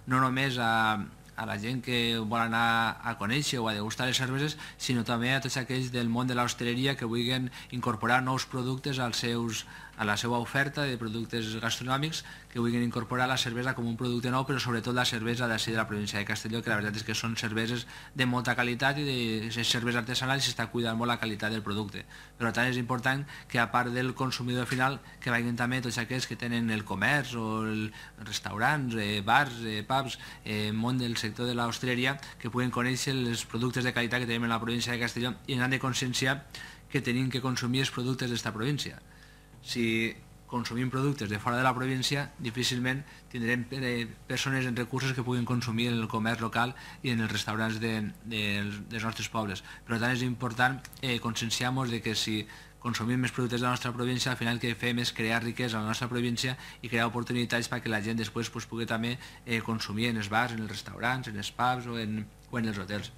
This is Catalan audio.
no només a la gent que vol anar a conèixer o a degustar les cerveses, sinó també a tots aquells del món de l'hostaleria que vulguin incorporar nous productes a la seva oferta de productes gastronòmics, que vulguin incorporar la cervesa com un producte nou, però sobretot la cervesa d'ací de la província de Castelló, que la veritat és que són cerveses de molta qualitat i de cervesa artesanal, i s'està cuidant molt la qualitat del producte. Per tant, és important que, a part del consumidor final, que vagin també tots aquells que tenen el comerç o restaurants, bars, pubs, món del sector de l'hostaleria, que puguen conèixer els productes de qualitat que tenim en la província de Castelló i han de conscienciar que tenim que consumir els productes d'esta província. Si consumim productes de fora de la província, difícilment tindrem persones en recursos que puguin consumir en el comerç local i en els restaurants dels nostres pobles. Per tant, és important conscienciar-nos de que si consumim més productes de la nostra província, al final el que fem és crear riquesa a la nostra província i crear oportunitats perquè la gent després pugui també consumir en els bars, en els restaurants, en els pubs o en els hotels.